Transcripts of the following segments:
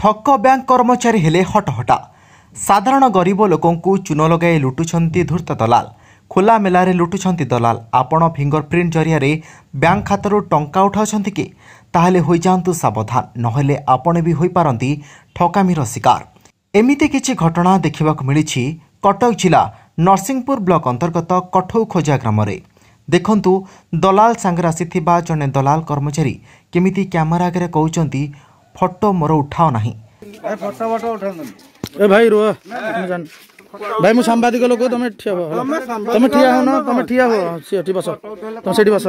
ଠକ ବ୍ୟାଙ୍କ କର୍ମଚାରୀ ହେଲେ ହଟହଟା। ସାଧାରଣ ଗରିବ ଲୋକଙ୍କୁ ଚୂନ ଲଗାଇ ଲୁଟୁଛନ୍ତି ଧୂର୍ତ୍ତ ଦଲାଲ। ଖୋଲା ମେଲାରେ ଲୁଟୁଛନ୍ତି ଦଲାଲ। ଆପଣ ଫିଙ୍ଗରପ୍ରିଣ୍ଟ ଜରିଆରେ ବ୍ୟାଙ୍କ ଖାତାରୁ ଟଙ୍କା ଉଠାଉଛନ୍ତି କି? ତାହେଲେ ହୋଇଯାଆନ୍ତୁ ସାବଧାନ, ନହେଲେ ଆପଣ ବି ହୋଇପାରନ୍ତି ଠକାମିର ଶିକାର। ଏମିତି କିଛି ଘଟଣା ଦେଖିବାକୁ ମିଳିଛି କଟକ ଜିଲ୍ଲା ନରସିଂହପୁର ବ୍ଲକ ଅନ୍ତର୍ଗତ କଠଉଖୋଜା ଗ୍ରାମରେ। ଦେଖନ୍ତୁ, ଦଲାଲ ସାଙ୍ଗରେ ଆସିଥିବା ଜଣେ ଦଲାଲ କର୍ମଚାରୀ କେମିତି କ୍ୟାମେରା ଆଗରେ କହୁଛନ୍ତି, ଫଟୋ ମୋର ଉଠାଅ ନାହିଁ। ଏ ଭାଇ ରୁହ, ମୁଁ ଜାଣି ଭାଇ, ମୁଁ ସାମ୍ବାଦିକ ଲୋକ। ତମେ ଠିଆ ହୁଅ, ତମେ ଠିଆ ହଉନ, ତମେ ଠିଆ ହୁଅ। ସେଠି ବସ, ତମେ ସେଠି ବସ।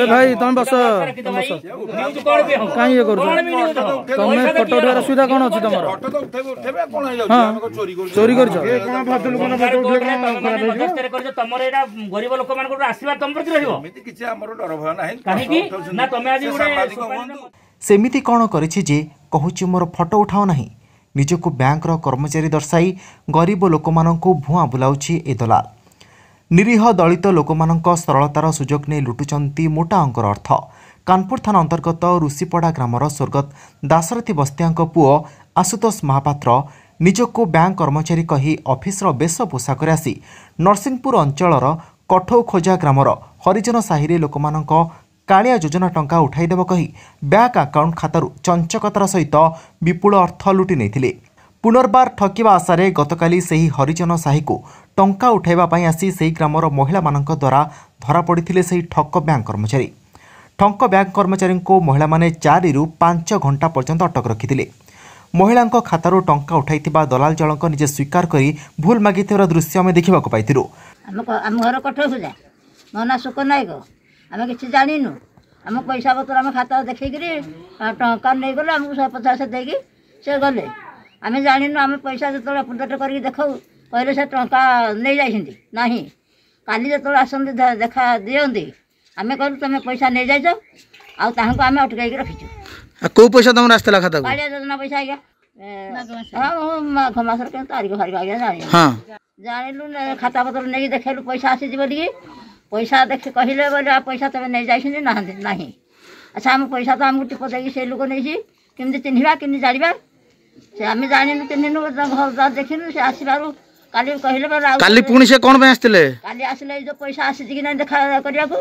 ଏ ଭାଇ, ତମେ ବସ, ତମେ ବସ। କାହିଁ ଇଏ କରୁଛ ତମେ? ଫଟୋ ଉଠେଇବାର ଅସୁବିଧା କଣ ଅଛି ତମର? ହଁ, ଚୋରି କରିଛ? ତମର ଏଇଟା ଗରିବ ଲୋକମାନଙ୍କଠୁ ଆଶୀର୍ବାଦ ତମ ପ୍ରତି ରହିବ କିଛି, ଆମର ଡର ଭୟ ନାହିଁ। କାହିଁକି ନା ତମେ ଆଜି ଗୋଟେ ସେମିତି କ'ଣ କରିଛି ଯେ କହୁଛି ମୋର ଫଟୋ ଉଠାଅ ନାହିଁ? ନିଜକୁ ବ୍ୟାଙ୍କର କର୍ମଚାରୀ ଦର୍ଶାଇ ଗରିବ ଲୋକମାନଙ୍କୁ ଭୁଆଁ ବୁଲାଉଛି ଏ ଦଲାଲ। ନିରୀହ ଦଳିତ ଲୋକମାନଙ୍କ ସରଳତାର ସୁଯୋଗ ନେଇ ଲୁଟୁଛନ୍ତି ମୋଟା ଅଙ୍କର ଅର୍ଥ। କାନପୁର ଥାନା ଅନ୍ତର୍ଗତ ଋଷିପଡ଼ା ଗ୍ରାମର ସ୍ୱର୍ଗତ ଦାଶରଥୀ ବସ୍ତିଆଙ୍କ ପୁଅ ଆଶୁତୋଷ ମହାପାତ୍ର ନିଜକୁ ବ୍ୟାଙ୍କ କର୍ମଚାରୀ କହି ଅଫିସର ବେଶ ପୋଷାକରେ ଆସି ନରସିଂହପୁର ଅଞ୍ଚଳର କଠଉଖୋଜା ଗ୍ରାମର ହରିଜନ ସାହିରେ ଲୋକମାନଙ୍କ କାଳିଆ ଯୋଜନା ଟଙ୍କା ଉଠାଇଦେବ କହି ବ୍ୟାଙ୍କ ଆକାଉଣ୍ଟ ଖାତାରୁ ଚଞ୍ଚକତାର ସହିତ ବିପୁଳ ଅର୍ଥ ଲୁଟି ନେଇଥିଲେ। ପୁନର୍ବାର ଠକିବା ଆଶାରେ ଗତକାଲି ସେହି ହରିଜନ ସାହିକୁ ଟଙ୍କା ଉଠାଇବା ପାଇଁ ଆସି ସେହି ଗ୍ରାମର ମହିଳାମାନଙ୍କ ଦ୍ୱାରା ଧରାପଡ଼ିଥିଲେ ସେହି ଠକ ବ୍ୟାଙ୍କ କର୍ମଚାରୀ। ଠକ ବ୍ୟାଙ୍କ କର୍ମଚାରୀଙ୍କୁ ମହିଳାମାନେ 4ରୁ 5 ଘଣ୍ଟା ପର୍ଯ୍ୟନ୍ତ ଅଟକ ରଖିଥିଲେ। ମହିଳାଙ୍କ ଖାତାରୁ ଟଙ୍କା ଉଠାଇଥିବା ଦଲାଲ ଜଣକ ନିଜେ ସ୍ୱୀକାର କରି ଭୁଲ ମାଗିଥିବାର ଦୃଶ୍ୟ ଆମେ ଦେଖିବାକୁ ପାଇଥିଲୁ। ଆମ ଘର କଠଉଖୋଜା, ମୋ ନାଁ ସୁକ ନାୟକ। ଆମେ କିଛି ଜାଣିନୁ। ଆମ ପଇସା ପତ୍ର ଆମେ ଖାତା ଦେଖେଇକିରି ଟଙ୍କା ନେଇଗଲେ, ଆମକୁ 150 ଦେଇକି ସେ ଗଲେ। ଆମେ ଜାଣିନୁ। ଆମେ ପଇସା ଯେତେବେଳେ ଅପଡେଟ୍ କରିକି ଦେଖାଉ, କହିଲେ ସେ ଟଙ୍କା ନେଇଯାଇଛନ୍ତି ନାହିଁ। କାଲି ଯେତେବେଳେ ଆସନ୍ତି, ଦେଖା ଦିଅନ୍ତି, ଆମେ କହିଲୁ ତମେ ପଇସା ନେଇଯାଇଛ, ଆଉ ତାହାଙ୍କୁ ଆମେ ଅଟକାଇକି ରଖିଛୁ। କୋଉ ପଇସା ତମର ଆସିଥିଲା ଖାତାକୁ? କାଳିଆ ଯୋଜନା ପଇସା ଆଜ୍ଞା। ହଁ, ମୁଁ ମାଘ ମାସର କେଉଁ ତାରିଖ ଫାରିଖ ଆଜ୍ଞା ଜାଣିନୁ। ଜାଣିଲୁ, ଖାତା ପତ୍ର ନେଇକି ଦେଖେଇଲୁ ପଇସା ଆସିଛି ବୋଲିକି। ପଇସା ଦେଖି କହିଲେ ବୋଲେ ପଇସା ତମେ ନେଇଯାଇଛନ୍ତି, ନାହାନ୍ତି ନାହିଁ। ଆଚ୍ଛା, ଆମ ପଇସା ତ ଆମକୁ ଟିପ ଦେଇକି ସେ ଲୋକ ନେଇଛି, କେମିତି ଚିହ୍ନିବା, କେମିତି ଜାଣିବା? ସେ ଆମେ ଜାଣିନୁ, ଚିହ୍ନିନୁ, ଘର ଦ୍ୱାର ଦେଖିନୁ। ସେ ଆସିବାରୁ କାଲି କହିଲେ ବୋଲେ ଆଉ କାଲି ପୁଣି ସେ କ'ଣ ପାଇଁ ଆସିଥିଲେ? କାଲି ଆସିଲେ ଏଇ ଯୋଉ ପଇସା ଆସିଛି କି ନାହିଁ ଦେଖା କରିବାକୁ।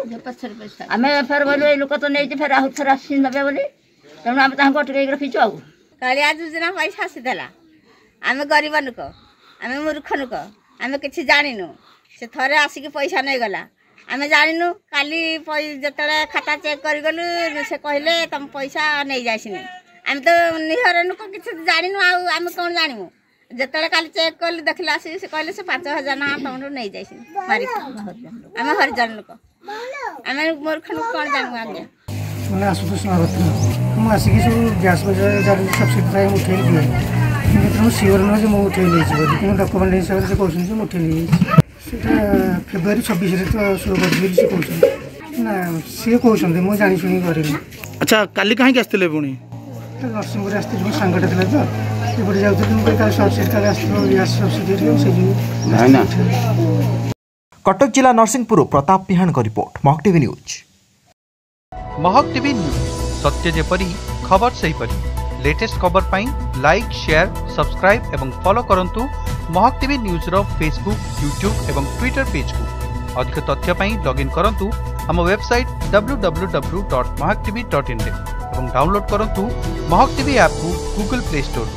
ଆମେ ଫେର ବୋଲୁ ଏଇ ଲୋକ ତ ନେଇଛି, ଫେର ଆଉ ଥରେ ଆସି ନେବେ ବୋଲି, ତେଣୁ ଆମେ ତାଙ୍କୁ ଅଟକେଇକି ରଖିଛୁ। ଆଉ କାଳିଆ ଯୋଜନା ପଇସା ଆସିଥିଲା। ଆମେ ଗରିବ ଲୋକ, ଆମେ ମୂର୍ଖ ଲୋକ, ଆମେ କିଛି ଜାଣିନୁ। ସେ ଥରେ ଆସିକି ପଇସା ନେଇଗଲା, ଆମେ ଜାଣିନୁ। କାଲି ଯେତେବେଳେ ଖାତା ଚେକ୍ କରିଗଲୁ, ସେ କହିଲେ ତମ ପଇସା ନେଇଯାଇସିନି। ଆମେ ତ ନିହର ଲୋକ, କିଛି ଜାଣିନୁ, ଆଉ ଆମେ କ'ଣ ଜାଣିବୁ? ଯେତେବେଳେ କାଲି ଚେକ୍ କଲୁ, ଦେଖିଲେ ଆସିକି ସେ କହିଲେ ସେ 5000 ଟଙ୍କା ତମଠୁ ନେଇଯାଇସିନି ମାରିକି। ଆମେ ହରିଜନ ଲୋକ, ଆମେ ମୂର୍ଖ ଲୋକ, କ'ଣ ଜାଣିବୁ ଆଜ୍ଞା? ମାନେ ଆଶୁତୋଷ ମହାପାତ୍ର। ମୁଁ ଆସିକି ସବୁ ଗ୍ୟାସ୍ ପଇସା ଯାହାର ସବସିଡ଼ି ଥାଏ ମୁଁ ଉଠେଇ ଦିଏ, କିନ୍ତୁ ଏଥିରେ ମୁଁ ସିଓର ନୁହେଁ ଯେ ମୁଁ ଉଠେଇ ନେଇଛି ବୋଲି। କିନ୍ତୁ ଡକୁମେଣ୍ଟ ହିସାବରେ ସେ କହୁଛନ୍ତି ଯେ ମୁଁ ଉଠେଇ ନେଇଯାଇଛି। ସେଇଟା ଫେବୃଆରୀ 26ରେ ତ ଶୋ କରିଛି ବୋଲି ସେ କହୁଛନ୍ତି ନା, ସିଏ କହୁଛନ୍ତି, ମୁଁ ଜାଣି ଶୁଣିକି କରିନି। ଆଚ୍ଛା, କାଲି କାହିଁକି ଆସିଥିଲେ ପୁଣି? ନରସିଂହପୁର ଆସିଥିଲି, ମୋ ସାଙ୍ଗଟା ଥିଲା ତ, ଏପଟେ ଯାଉଥିଲି। ମୁଁ କହିଲି କାଲି ସବସିଡ଼ି କାଲି ଆସିଥିବ ଗ୍ୟାସ୍ ସବସିଡ଼ି, ସେଇ ଯୋଗୁଁ। କଟକ ଜିଲ୍ଲା ନରସିଂହପୁରରୁ ପ୍ରତାପ ପିହାଣଙ୍କ report, Mahak TV news. Mahak TV news, ସତ୍ୟ ଯେପରି ଖବର ସେହିପରି। ଲେଟେଷ୍ଟ ଖବର ପାଇଁ ଲାଇକ୍, ସେୟାର, ସବସ୍କ୍ରାଇବ୍ ଏବଂ ଫଲୋ କରନ୍ତୁ ମହକ ଟିଭି ନ୍ୟୁଜ୍ର ଫେସବୁକ୍, ୟୁଟ୍ୟୁବ୍ ଏବଂ ଟ୍ୱିଟର ପେଜ୍କୁ। ଅଧିକ ତଥ୍ୟ ପାଇଁ ଲଗ୍ଇନ୍ କରନ୍ତୁ ଆମ ୱେବସାଇଟ୍ www.mahakatv.in ରେ ଏବଂ ଡାଉନଲୋଡ୍ କରନ୍ତୁ ମହକ ଟିଭି ଆପ୍କୁ ଗୁଗଲ ପ୍ଲେ ଷ୍ଟୋରରୁ।